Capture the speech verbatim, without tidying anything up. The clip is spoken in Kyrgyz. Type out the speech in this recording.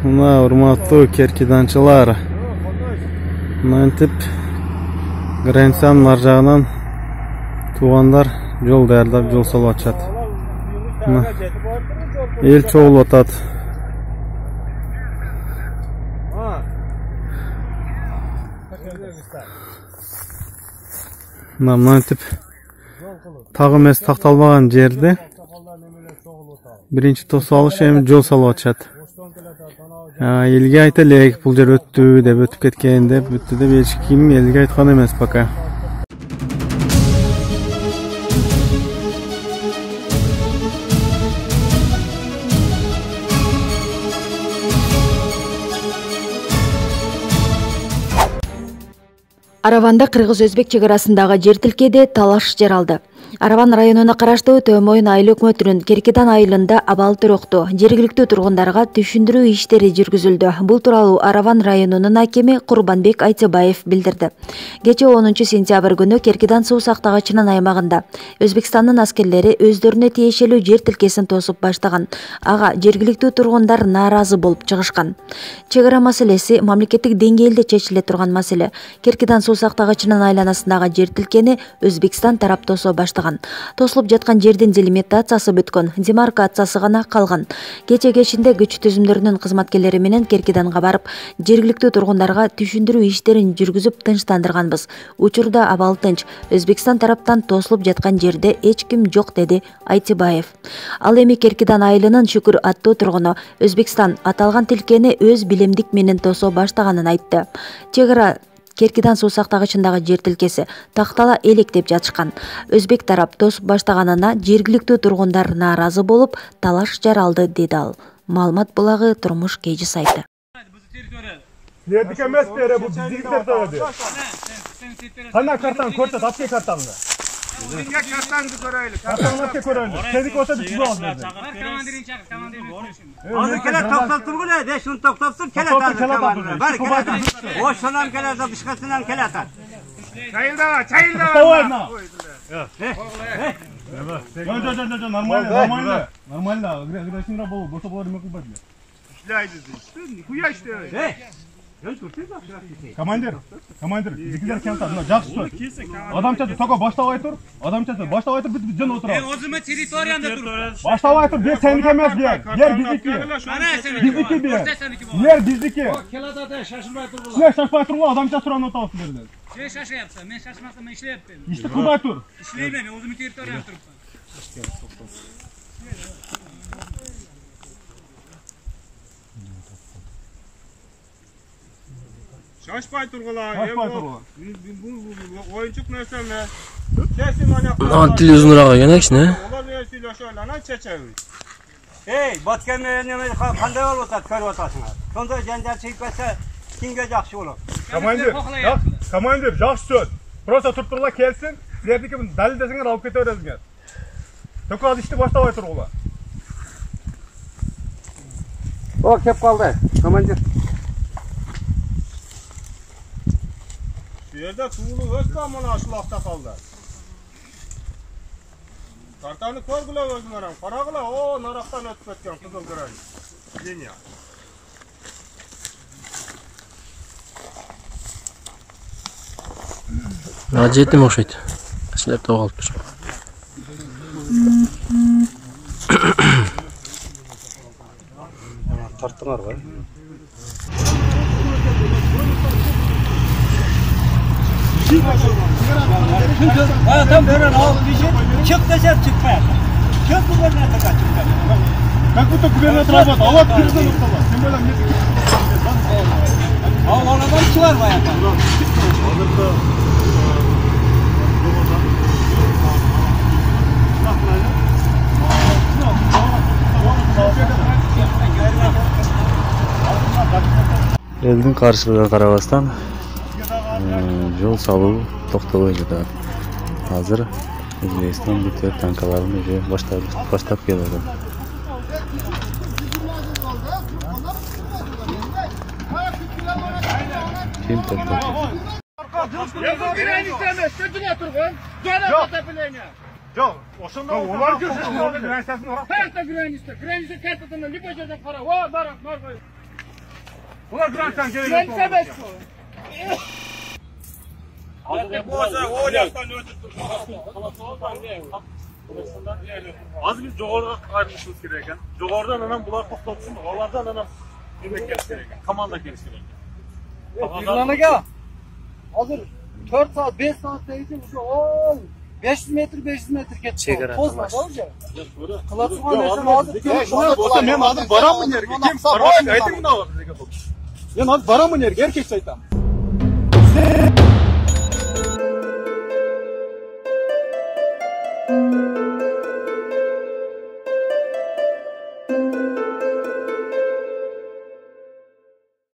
Мына урматтуу керкиданчылар. Мынтип границанын ар жагынан туугандар жол даярдап жол салып атышат. Эл чогулуп атат. Мына мынтип тагы эмес такталбаган жерде биринчи тосуп алыш эми жол салып атышат. Элге айта элек бул жер өттү деп, өтүп кеткен деп, бүттү деп эч ким элге айткан эмес пока. Араванда кыргыз-өзбек чек арасындагы жер тилкеде талаш жаралды. Араван районуна караштуу Төмөйүн айыл өкмөтүнүн Керкидан айылында абал төрөктү. Жергиликтүү тургундарга түшүндүрүү иштери жүргүзүлдү. Бул тууралуу Араван районунун акими Курбанбек Айтыбаев билдирди. Кечээ онунчу сентябрь күнү Керкидан суу сактагычынын аймагында Өзбекстандын аскерлери өздөрүнө тиешелүү жер тилкесин тосуп баштаган. Ага жергиликтүү тургундар нааразы болуп чыгышкан. Чек ара маселеси мамлекеттик деңгээлде чечиле турган маселе. Керкидан суу сактагычынын айланасындагы жер тилкени Өзбекстан тарап тосо баштаган. Тосулуп жаткан жердин делимитациясы бүткөн, демаркациясы гана калган. Кече кечинде күч түзүмдөрүнүн кызматкерлери менен Керкиданга барып, жергиликтүү тургундарга түшүндүрүү иштерин жүргүзүп тынчтандырганбыз. Учурда абал тынч, Өзбекстан тараптан тосулуп жаткан жерде эч ким жок, деди Айтыбаев. Ал эми Керкидан айылынын Шүкүр аттуу тургуну Өзбекстан аталган тилкени өз билемдик менен тосо баштаганын айтты. Чек ара Керкидан суу сактагычындагы жер тилкеси тактала элек деп жатышкан. Өзбек тарап тосуп баштаганына жергиликтүү тургундар нааразы болуп, талаш жаралды, деди ал. Маалымат булагы Турмуш Кейжи сайты. Силердики эмес бере, бул биздики территория. Кандай картаны көрсөт, апке картаңды. Силерге картаңды көрөйлү. Картаңды апке көрөйлү. Сеники болсо биз бул алды. Командирин чакыр, командирин. Азыр келет токтоптур беле, беш миң токтоптур, келет азыр командир. Бар келет. Ошонан келет, башкасынан келет. Чайылдава, чайылдава. Давай. Жо, жо, жо, жо, нормально, нормально. Нормально. Агрессивно болу, бошо болор эме кылбайт эле. Иштейди. Нихуя иштебейт. Командир, командир, бизгилер келди, мына жакшы сөз. Адамчасы токо баштабай тур, адамчасы баштабай тур, биз жөн отурабыз. Мен өзүмө территориямда туруп. Баштабай тур, бер сеники эмес, бер. Бер биздики. Биздики бер. Бер биздики. Келатат, шашылбай тургула. Силер шашпай тургула, адамчасы туруп отурабыз силерден. Силер шашыяпсыз, мен шашмасам мен иштеп атпаймын. Ишти кылбай тур. Иштейм, мен өзүмдүн территориямда турупмун. Шашпай тургула. Шашпай тургула. Бул оюнчук нерсе эме. Сесин ана. Ан тили узунураак экен экчине. Олар менен сүйлөшөлү, анан чечебиз. Эй, баткенде неме кандай болуп атат, көрүп атасыңар. Сонда жанжал чыгып кетсе, кимге жакшы болот? Командир, командир, жакшы сөз. Просто туруп тургула келсин, силердики далилдесиңер алып кете бересиңер. Только ал ишти баштабай тургула. О, кеп калды, командир. Жерде суулуу өткөн мына ушулакта калды. Картаны көргүлө өзүңөр, карагыла, о, нарактан өтүп кеткен кызыл грань. Линия. А жетим окшойт. Силер тоо калыптыр. Тарттыңарбы? А там берен алып бишет, чык десем чыкпайт. Чык губернатор чыкпайт. Как будто губернатор работает, а вот кирден укталат. Тем более мне. Ал анадан чыгар баягы. Элдин каршылыгына карабастан жол салуу токтобой жатат. Азыр Өзбекстан бүтө танкаларын уже баштап баштап келет. Ким токтойт? Жок, ошондо олар жүрсүн, границасын урап. Карта граница, граница картадан любой жерден кара. О, бар, бар. Bular bıraksan gerek yok. Sen sebep bu. Az biz joğorga ayrılışımız gerek ekan. Joğordan anam bular to'xtatsin, olardan anam demek gerek ekan. Komanda kelish gerek ekan. Birlanaga hozir to'rt soat, besh soatdan keyin o'sha ol besh yuz metr, besh yuz metr ketdi. Chegara Qo'zma, o'sha. Qiladigan narsa hozir Şuna olsa men hozir boraman yerga. Kim barmoq ayting buni. Men hozir boraman yerga, erkekcha aytaman.